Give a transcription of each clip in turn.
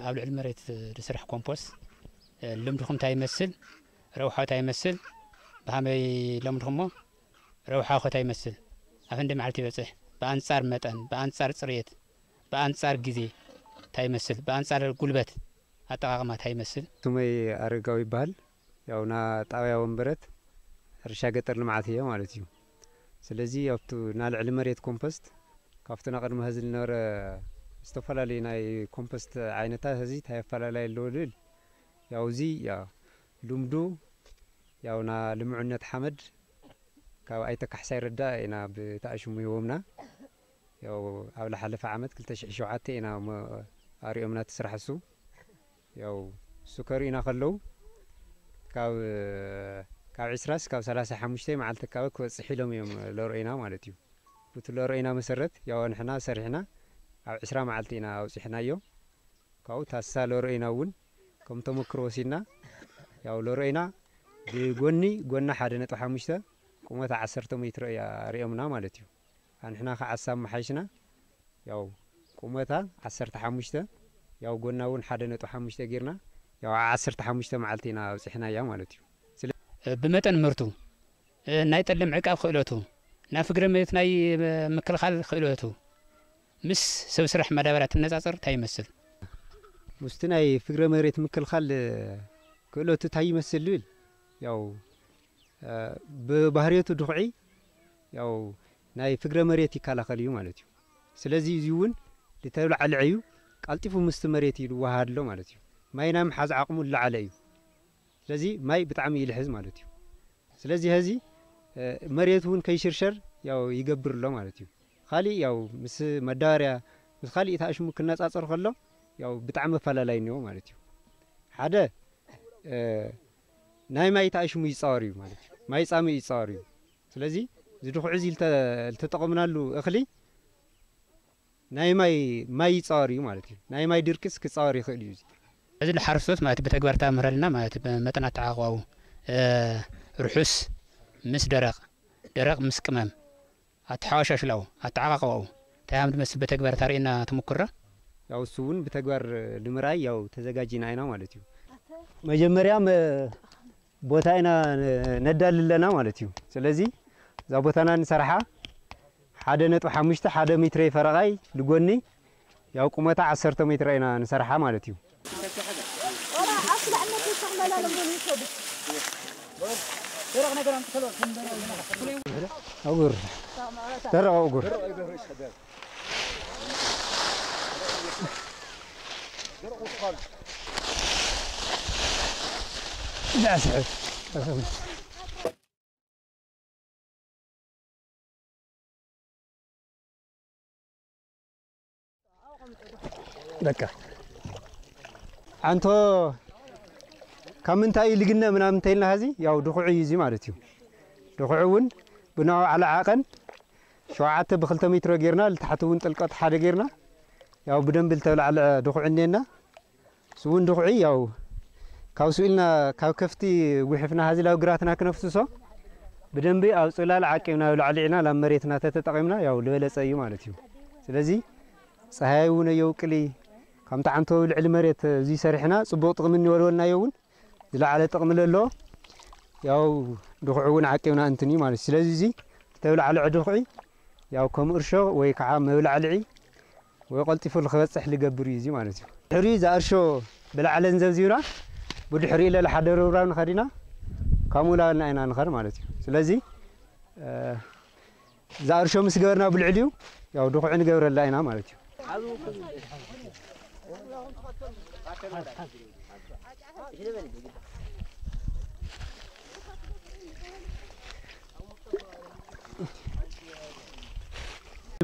ኣብ ልዕሊ መሬት ዝስራሕ ኮምፖስት ልምድኹም እንታይ ይመስል? ረብሓ እንታይ ይመስል? ብኸመይ ለምድኹሞ? ረብሓ ኸ እንታይ ይመስል? ኣብ ክንደይ መዓልቲ ይበጽሕ? ብኣንጻር መጠን፣ ብኣንጻር ጽሬት፣ ብኣንጻር ግዜ እንታይ ይመስል? ብኣንጻር ጉልበት ኣጠቓቕማ እንታይ ይመስል? ስመይ ኣረጋዊ ይበሃል። ያው ና ጣብያ ወንበረት ሕርሻ ገጠር ልምዓት እየ ማለት እዩ። ስለዚ ኣብቱ ና ልዕሊ መሬት ኮምፖስት ካብቲ ና ቅድሚ ሀዚ ዝነበረ ዝተፈላለዩ ናይ ኮምፖስት ዓይነታት ሀዚ እንታይ ኣፈላላይ ኣለዎ ልብል ያው እዚ ያ ልምዱ ያው ና ልምዑነት ሓመድ ካብ ኣይተ ካሕሳይ ረዳ ኢና ብተኣሽሙ ሂቦምና። ያው ኣብ ዝሓለፈ ዓመት ክልተ ሽሕ ሸውዓተ ኢና እሞ ኣሪኦምና እቲ ስራሕ እሱ። ያው እሱ ከርእዩና ከለዉ ካብ ካብ ዕስራ እስካብ ሰላሳ ሓሙሽተ መዓልቲ ኣካባቢ ክበፅሕ ኢሎም እዮም ለርእዩና ማለት እዩ። ብቲ ለርእዩና መሰረት ያው ንሕና ሰሪሕና ኣብ ዕስራ መዓልቲ ኢና ኣውፂሕናዮ። ካብኡ ታሳ ለርእዩና እውን ከም ተመክሮ ወሲድና ያው ለርእዩና ብጎኒ ጎና ሓደ ነጥቢ ሓሙሽተ ቁመታ ዓሰርተ ሜትሮ እያ ርእዮምና ማለት እዩ። ኣንሕና ከዓ ኣሳብ መሓይሽና ያው ቁመታ ዓሰርተ ሓሙሽተ ያው ጎና እውን ሓደ ነጥቢ ሓሙሽተ ጌርና ያው ዓሰርተ ሓሙሽተ መዓልቲ ኢና ኣብፂሕናያ ማለት እዩ። ስለ ብመጠን ምህርቱ፣ እ፣ ናይ ጠለ ምዕቃብ ክእለቱ፣ ናይ ፍግረ መሬት ናይ፣ እ፣ ምክልኻል ክእለቱ ምስ ሰብ ስራሕ ማዳበርያ ትነጻጸር እንታይ ይመስል? ምስቲ ናይ ፍግረ መሬት ምክልኻል፣ እ፣ ክእለቱ እንታይ ይመስል ዝብል ያው ብባህርየቱ ድኹዒ ያው ናይ ፍግረ መሬት ይከላኸል እዩ ማለት እዩ። ስለዚ እዚ እውን ልተብላዕ ልዐ እዩ ቀልጢፉ ምስቲ መሬት እዩ ዝወሃድ ኣሎ ማለት እዩ። ማይ ናይ ምሓዝ ዓቕሙ ዝለዓለ እዩ። ስለዚ ማይ ብጣዕሚ ይልሕዝ ማለት እዩ። ስለዚ ሀዚ መሬት እውን ከይሽርሸር ያው ይገብር ኣሎ ማለት እዩ። ካሊእ ያው ምስ መዳበርያ ምስ ካሊእ ተኣሽሙ ክነፃፀር ከሎ ያው ብጣዕሚ ኣፈላላይ እኒኦ ማለት እዩ። ሓደ ናይ ማይ ተኣሽሙ ይፃወር እዩ ማለት እዩ። ማይ ፃምእ ይፃወር እዩ። ስለዚ እዚ ድኹዒ እዚ ልተ- ልተጠቐምናሉ እኽሊ ናይ ማይ ማይ ይፃወር እዩ ማለት እዩ። ናይ ማይ ድርቅስ ክፃወር ይኽእል እዩ። እዚ እዚ ንሓረስቶት ማለት ብተግባር ተምህረልና ማለት መጠን ኣተዓቋቑባኡ ርሑስ ምስ ደረቕ ደረቕ ምስ ቅመም ኣተሓዋሻሽላኡ ኣተዓቃቅባኡ እንታይ ከም ዝመስል ብተግባር ታርእየና ተመኩሮ? ያው እሱ እውን ብተግባር ንምርኣይ ያው ተዘጋጂና ኢና ማለት እዩ። መጀመርያ መ- ቦታ ኢና ነዳሊ ኣለና ማለት እዩ። ስለዚ እዛ ቦታና ንሰርሓ ሓደ ነጥቢ ሓሙሽተ ሓደ ሜትሮ ፈረቓይ ልጎኒ ያው ቁመታ ዓሰርተ ሜትሮ ኢና ንሰርሓ ማለት እዩ። ኣጉር ደረቕ ኣጉር ዳስዕ በቃ ኣንቶ ካብ ምንታይ እዩ ልግነ ምናምን እንተኢልና ሀዚ ያው ድኹዒ እዩ እዚ ማለት እዩ። ድኹዒ እውን ብናው ዓለ ዓቐን ሸውዓተ ብክልተ ሜትሮ ጌርና ልታሕቲ እውን ጥልቀት ሓደ ጌርና ያው ብደንቢ ልተብላዕልዐ ድኹዒ እኔና እሱ እውን ድኹዒ ያው ካብ ስኢልና ካብ ከፍቲ ጉሒፍና ሀዚ ላብ ግራትና ክነፍስሶ ብደንቢ ኣብ ፅላል ዓቂብና ኣብ ላዕሊ ዒና ላብ መሬትና ተተጠቒምና ያው ዝበለፀ እዩ ማለት እዩ። ስለዚ ፀሃይ እውን ኣየውቅሊ ካብ ተዓንቶ ልዕሊ መሬት እዚ ሰሪሕና ፅቡቕ ጥቕሚ እንወልወልናዮ እውን ዝለዓለ ጥቕሚ ለሎ ያው ድኹዒ እውን ዓቂብና እንትን እዩ ማለት እዩ። ስለዚ እዚ ተብላዕልዐ ድኹዒ ያው ከም እርሾ ወይ ከዓ መብላዕልዒ ወይ ቀልጢፉ ንክበፅሕ ዝገብር እዩ እዚ ማለት እዩ። ድሕሪ እዛ እርሾ ብላዕለን ዘብዚብና ብድሕሪ ኢለ ሓደ ርብራብ ንኸዲና ከምኡ ላበልና ኢና ንኸድ ማለት እዩ። ስለዚ እዛ እርሾ ምስ ገበርና ብልዕሊኡ ያው ድኹዒ ንገብረላ ኢና ማለት እዩ።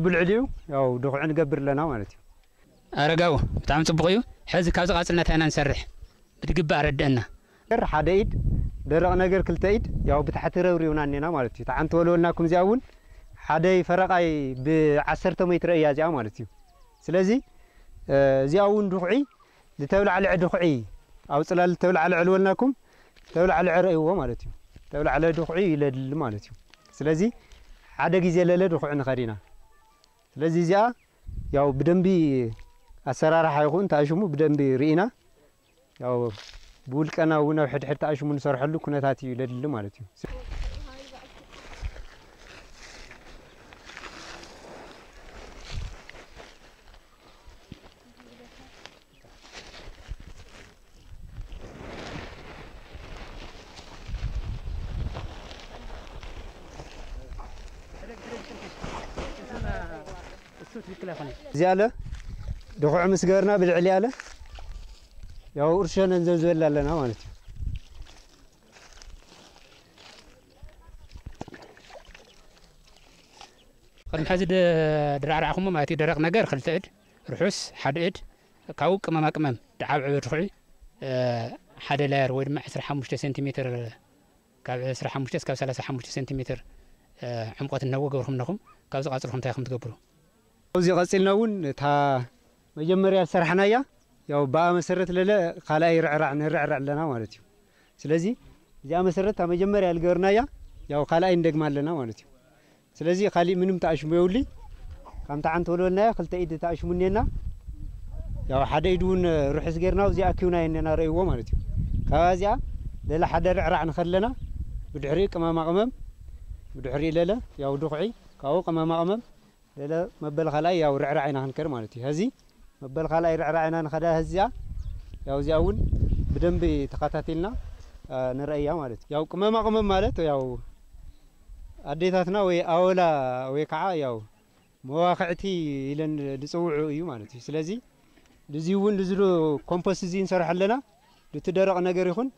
ብልዕሊኡ ያው ድኹዒ ንገብር ኣለና ማለት እዩ። ኣረጋዊ ብጣዕሚ ፅቡቕ እዩ። ሕዚ ካብዚ ቃፅልና እንታይ ኢና ንሰርሕ ብትግባእ ኣረድአና። ነገር ሓደ ኢድ ደረቕ ነገር ክልተ ኢድ ያው ብታሕቲ ረብሪብና እኔና ማለት እዩ። ተዓንተ ወለወልና ኩምዚኣ እውን ሓደይ ፈረቓይ ብዓሰርተ ሜትሮ እያ እዚኣ ማለት እዩ። ስለዚ እዚኣ እውን ድኹዒ ዝተብላዕልዐ ድኹዒ ኣብ ጽላል ተብላዕ ልዕል በልናኩም፣ ተብላዕ ልዕረ እይዎ ማለት እዩ። ተብላዕ ለድኹዒ ይለድል ማለት እዩ። ስለዚ ሓደ ግዜ ለለ ድኹዒ ንኸድ ኢና። ስለዚ እዚኣ ያው ብደንቢ ኣሰራርሓ ይኹን ተኣሽሙ ብደንቢ ርኢና፣ ያው ብውልቀና እውን ኣብ ሕድሕድ ተኣሽሙ ንሰርሐሉ ኩነታት እዩ ለድሊ ማለት እዩ። እዚ ኣለ ድኹዕ ምስ ገበርና ብልዕሊ ኣለ ያው እርሾ ነንዘብዝበላ ኣለና ማለት እዩ። ቅድሚ ሕዚ ድ-፣ ድራዕራዕኹሞ ማለት እዩ። ደረቕ ነገር ክልተ እድ፣ ርሑስ ሓደ እድ፣ ካብኡ ቅመማ ቅመም ድዓብዐበ ድኹዒ፣ እ፣ ሓደ ላየር ወይ ድማ ዕስራ ሓሙሽተ ሴንቲሜትር፣ ካብ ዕስራ ሓሙሽተ እስካብ ሰላሳ ሓሙሽተ ሴንቲሜትር፣ እ፣ ዕምቆት እንሀቦ ገብርኩም ኣለኹም። ካብዚ ቀጽልኩም እንታይ ኢኹም ትገብሩ? ኣብዚ ቀጺልና እውን እታ መጀመርያ ዝሰራሕናያ ያው ብኣ መሰረት ለለ ካልኣይ ርዕራዕ ንርዕራዕ ኣለና ማለት እዩ። ስለዚ እዚኣ መሰረት እታ መጀመርያ ዝገበርናያ ያው ካልኣይ እንደግማ ኣለና ማለት እዩ። ስለዚ ካሊእ ምንም ተኣሽሙ የብሉይ። ከምታ ዓንተ ወለወልናዮ ክልተ ኢድ ተኣሽሙ እኔና። ያው ሓደ ኢድ እውን ርሑስ ጌርና ኣብዚ ኣኪብናዮ እኔና ረእይዎ ማለት እዩ። ካብኣ እዚኣ ለለ ሓደ ርዕራዕ ንኸለና ብድሕሪኡ ቅመማ ቅመም ብድሕሪኡ ለለ ያው ድኹዒ ካብኡ ቅመማ ቅመም ለለ መበል ካልኣይ ያው ርዕራዕ ኢና ክንከድ ማለት እዩ። ሀዚ መበል ካልኣይ ርዕራዕ ኢና ንኸዳ ሀዚኣ ያው እዚኣ እውን ብደንቢ ተኸታቲልና፣ አ፣ ንረእያ ማለት እዩ። ያው ቅመማ ቅመም ማለት ያው ኣዴታትና ወይ ኣወላ ወይ ከዓ ያው መዋኽዕቲ ኢለን ዝፅውዑ እዩ ማለት እዩ። ስለዚ ልዚ እውን ልዝሉ ኮምፖስት እዚ ንሰርሖ ኣለና። ልቲ ደረቕ ነገር ይኹን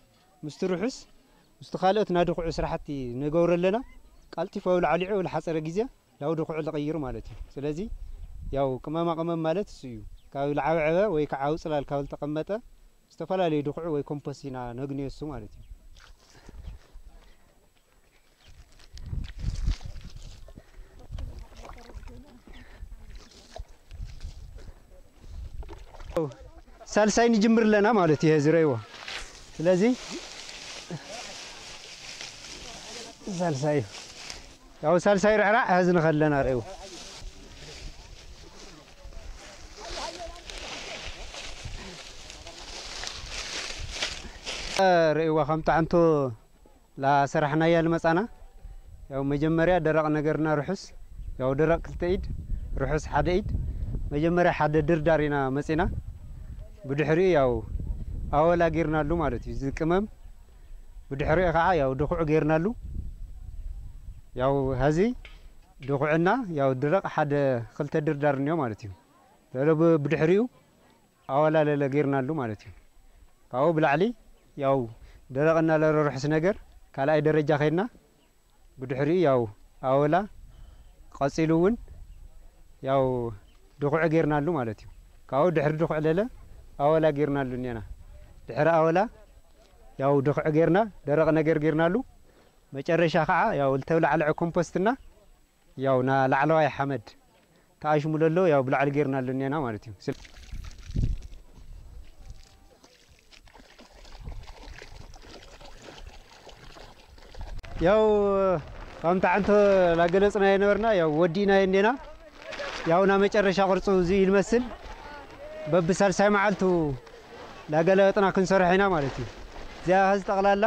ምስቲ ርሑስ ምስቲ ካልኦት ናድኹዑ ስራሕቲ ንገብሮ ኣለና። ቀልጢፉ ኣብ ላዕሊዑ ልሓፀረ ግዜ ላው ድኹዑ ልቕይር ማለት እዩ። ስለዚ ያው ቅመማ ቅመም ማለት እሱ እዩ። ካብ ልዓብዐበ ወይ ከዓ ኣብ ፅላል ካብ ልተቐመጠ ዝተፈላለዩ ድኹዑ ወይ ኮምፖስት ኢና ነግንዮ እሱ ማለት እዩ። ሳልሳይ ንጅምር ኣለና ማለት እዩ። ዝረይዎ ስለዚ ሳልሳይ እዩ። ያው ሳልሳይ ርዕራዕ ሀዚ ንኸለና ረእዩ። ርእይዋ ከም ጣዕንቶ ላሰራሕናያ ልመጻና ያው መጀመርያ ደረቕ ነገርና ርሑስ ያው ደረቕ ክልተ ኢድ ርሑስ ሓደ ኢድ መጀመርያ ሓደ ድርዳር ኢና መጺና። ብድሕሪኡ ያው ኣወላ ጌርናሉ ማለት እዩ። ዝቅመም ብድሕሪኡ ከዓ ያው ድኹዕ ጌርናሉ። ያው ሀዚ ድኹዕና ያው ድረቕ ሓደ ክልተ ድርዳር እኒኦ ማለት እዩ። ለለ ብ-፣ ብድሕሪኡ ኣወላ ለለ ጌርናሉ ማለት እዩ። ካብኡ ብላዕሊ ያው ደረቕ እናለረ ርሑስ ነገር ካልኣይ ደረጃ ከይድና ብድሕሪኡ ያው ኣወላ ቀጺሉ እውን ያው ድኹዕ ጌርናሉ ማለት እዩ። ካብኡ ድሕሪ ድኹዕ ለለ ኣወላ ጌርናሉ እኒና። ድሕሪ ኣወላ ያው ድኹዕ ጌርና ደረቕ ነገር ጌርናሉ። መጨረሻ ከዓ ያው ልተብላዕልዐ ኮምፖስትና ያው ና ላዕለዋይ ሓመድ ተኣሽሙ ለሎ ያው ብላዕሊ ጌርናሉ እኒና ማለት እዩ። ስለ-፣ ያው ከምቲ ዓንቶ ላገለጽናዮ ነበርና ያው ወዲእናዮ እኒና። ያው ና መጨረሻ ቅርጹ እዚ ይመስል። በብሳልሳይ መዓልቱ ላገለበጥና ክንሰርሕ ኢና ማለት እዩ። እዚኣ ሀዚ ጠቕላላ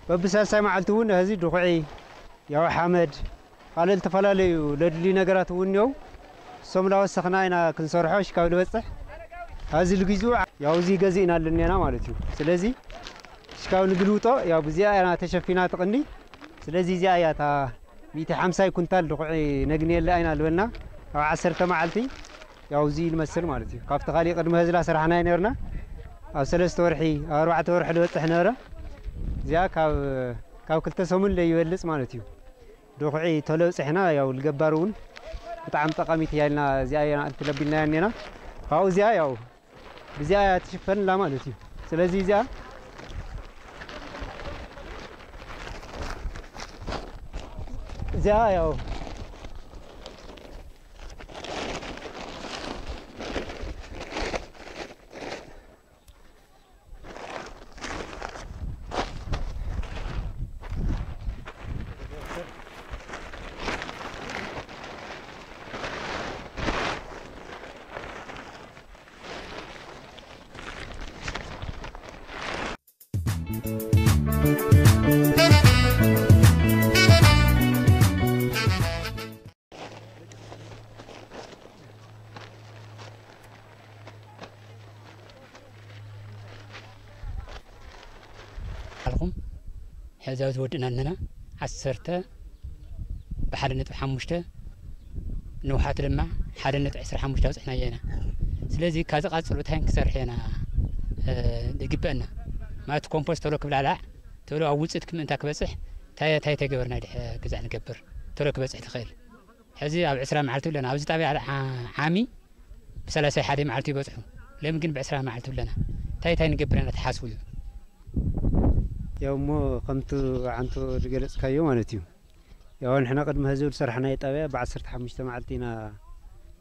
በብሳልሳይ መዓልቲ እውን ሀዚ ድኹዒ ያው ሓመድ ካልእ ዝተፈላለዩ ለድልዩ ነገራት እውን እኒው። እሶም ላወሰኽና ኢና ክንሰርሖ ሽካብ ልበፅሕ። ሀዚ ልግዝኡ ያው እዚ ገዚእና ኣለኒና ማለት እዩ። ስለዚ ሽካብ ንግልውጦ ያው ብዚኣ ኢና ተሸፊና ትቕኒ። ስለዚ እዚኣ እያ እታ ሚእቲ ሓምሳይ ኩንታል ድኹዒ ነግንየላ ኢና ልበልና። ኣብ ዓሰርተ መዓልቲ ያው እዚ ይመስል ማለት እዩ። ካብቲ ካሊእ ቅድሚ ህዝላ ስራሕና ይነበርና ኣብ ሰለስተ ወርሒ ኣብ ኣርባዕተ ወርሒ ዝበፅሕ ነበረ። እዚኣ ካብ፣ ካብ ክልተ ሰሙን ለይበልፅ ማለት እዩ። ድኹዒ ቶሎ ብፅሕና ያው ልገባር እውን ብጣዕሚ ጠቃሚት እያ ኢልና እዚኣ እያ ልትለቢልና እያ እኒና። ካብኡ እዚኣ ያው ብዚኣ እያ ትሽፈንላ ማለት እዩ። ስለዚ እዚኣ፣ እዚኣ ያው ቁልጥፉም። ሕዚ ኣብዚ ወድእና ኣለና። ዓሰርተ ብሓደ ነጥቢ ሓሙሽተ፣ ንውሓት ድማ ሓደ ነጥቢ ዕስራ ሓሙሽተ ኣብፅሕናዮ ኢና። ስለዚ ካብዚ ቀፅሉ እንታይ ክንሰርሕ ኢና፣ እ፣ ዝግበአና? ማለት ኮምፖስት ቶሎ ክብላላዕ፣ ቶሎ ኣብ ውፅኢት ክምእንታ ክበፅሕ እንታይ እንታይ ተገበርና ድሕ ግዛዕ ንገብር ቶሎ ክበፅሕ ትኽእል? ሕዚ ኣብ ዕስራ መዓልቲ ኣለና። ኣብዚ ጣብያ ዓ-፣ ዓሚ ብሰላሳ ሓደ መዓልቲ ይበፅሑ። ሎሚ ግን ብዕስራ መዓልቲ ኣለና። እንታይ እንታይ ንገብር ኢና ተሓስቡ እዩ? ያው እሞ ከምቲ ዓንቶ ዝገለጽካዮ ማለት እዩ። ያው ንሕና ቅድሚ ሕዚ ዝሰርሕናዮ ጣብያ ብዓሰርተ ሓሙሽተ መዓልቲ ኢና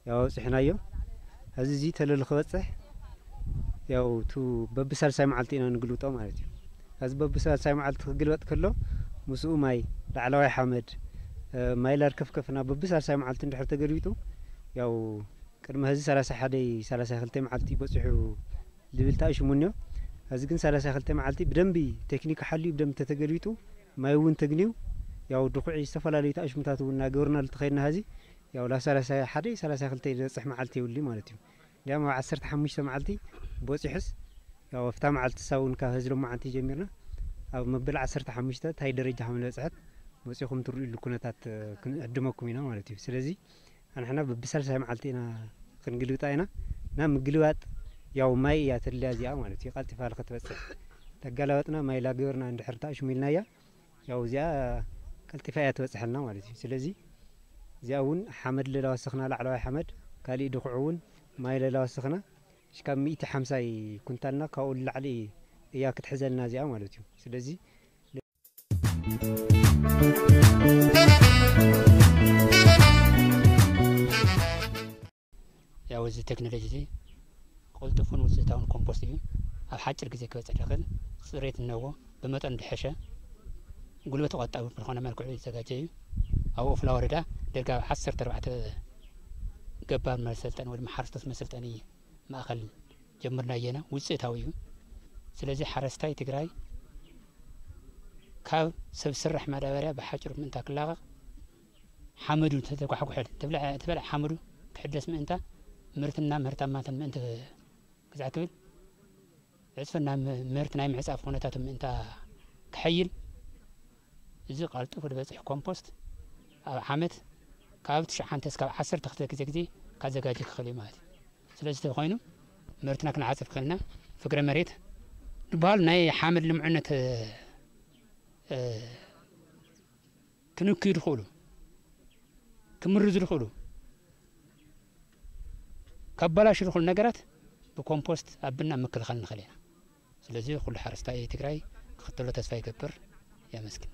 ያው ኣውጺሕናዮ። ሕዚ እዚ ተለሉ ክበጽሕ ያው ቱ በብሳልሳይ መዓልቲ ኢና ንግልብጦ ማለት እዩ። እዚ በብሳልሳይ መዓልቲ ክግልበጥ ከሎ ምስኡ ማይ፣ ላዕለዋይ ሓመድ፣ እ፣ ማይ ላርከፍከፍና በብሳልሳይ መዓልቲ እንድሕር ተገልቢጡ ያው ቅድሚ ሕዚ ሰላሳ ሓደ ሰላሳ ክልተ መዓልቲ በጺሑ ዝብል ተኣሽሙ እኒኦ። ሕዚ ግን ሰላሳ ክልተ መዓልቲ ብደንቢ ቴክኒክ ሓልዩ ብደንቢ ተተገልቢጡ ማይ እውን ተግንዩ ያው ድኹዒ ዝተፈላለዩ ተኣሽሙታት እውን እናገበርናሉ ተኸይድና ሕዚ ያው ላብ ሰላሳ ሓደ ሰላሳ ክልተ ዝበጽሕ መዓልቲ የብሉ ማለት እዩ። እንዲያም ኣብ ዓሰርተ ሓሙሽተ መዓልቲ በጺሑስ ያው ኣብታ መዓልቲ እሳ እውን ካብ ሕዚ ሎማዓንቲ ጀሚርና ኣብ መበል ዓሰርተ ሓሙሽተ እንታይ ደረጃ ከም ዝበጽሐት መጺኹም ትርእዩሉ ኩነታት፣ እ፣ ክንዕድመኩም ኢና ማለት እዩ። ስለዚ ኣንሕና በብሳልሳይ መዓልቲ ኢና ክንግልብጣ ኢና። እና ምግልባጥ ያው ማይ እያ ተድልያ እዚኣ ማለት እዩ። ቀልጢፋ ክትበጽሕ ተጋላበጥና ማይ ላገበርና እንድሕር ተኣሽሙ ኢልናያ ያው እዚኣ ቀልጢፋ እያ ትበጽሐልና ማለት እዩ። ስለዚ እዚኣ እውን ሓመድ ለላ ወሰኽና፣ ላዕለዋይ ሓመድ፣ ካሊእ ድኹዕ እውን ማይ ለላ ወሰኽና፣ ሽካብ ሚእቲ ሓምሳ ኩንታልና ካብኡ ንላዕሊ እያ ክትሕዘልና እዚኣ ማለት እዩ። ስለዚ ያው እዚ ቴክኖሎጂ እዚ ቅልጡፍን ውፅኢታውን ኮምፖስት እዩ። ኣብ ሓጭር ግዜ ክበፅሕ ዝኽእል፣ ፅሬት እነዎ፣ ብመጠኑ ዝሐሸ፣ ጉልበት ቆጣቢ ብዝኾነ መልክዑ ዝተዘጋጀ እዩ። ኣብ ኦፍላ ወረዳ ደርጋ ዓሰርተ ኣርባዕተ ገባር መሰልጠኒ ወይ ድማ ሓረስቶት መሰልጠኒ ማእኸል ጀምርናዮ ኢና። ውፅኢታዊ እዩ። ስለዚ ሓረስታይ ትግራይ ካብ ሰብ ስራሕ ማዳበርያ ብሓጭር ምእንታ ክላቐቕ ሓመዱ ተተጓሕጉሐ፣ ተብልዐ፣ ተበልዐ ሓመዱ ክሕደስ ምእንታ ምህርትና ምህርታማትን ምእንቲ ግዛዕ ክብል ዕፅፍና ም-፣ ምህርቲ ናይ ምዕፃፍ ኩነታቱ ምእንታ ክሐይል እዚ ቀልጢፉ ዝበፅሕ ኮምፖስት ኣብ ዓመት ካብ ትሽዓተ እስካብ ዓሰርተ ክልተ ግዜ ግዜ ካዘጋጀ ክኽእል እዩ ማለት እዩ። ስለዚ ተኾይኑ ምህርትና ክንዓፅፍ ክኽእልና ፍግረ መሬት ዝበሃሉ ናይ ሓመድ ልምዑነት፣ እ፣ ክንክዩ ዝኽእሉ፣ ክምርዙ ዝኽእሉ፣ ከባላሹ ዝኽእሉ ነገራት ብኮምፖስት ኣብና ምክልኻል ንኽእል ኢና። ስለዚ ኩሉ ሓረስታይ ትግራይ ክኽተሎ ተስፋ ይገብር። የመስግን።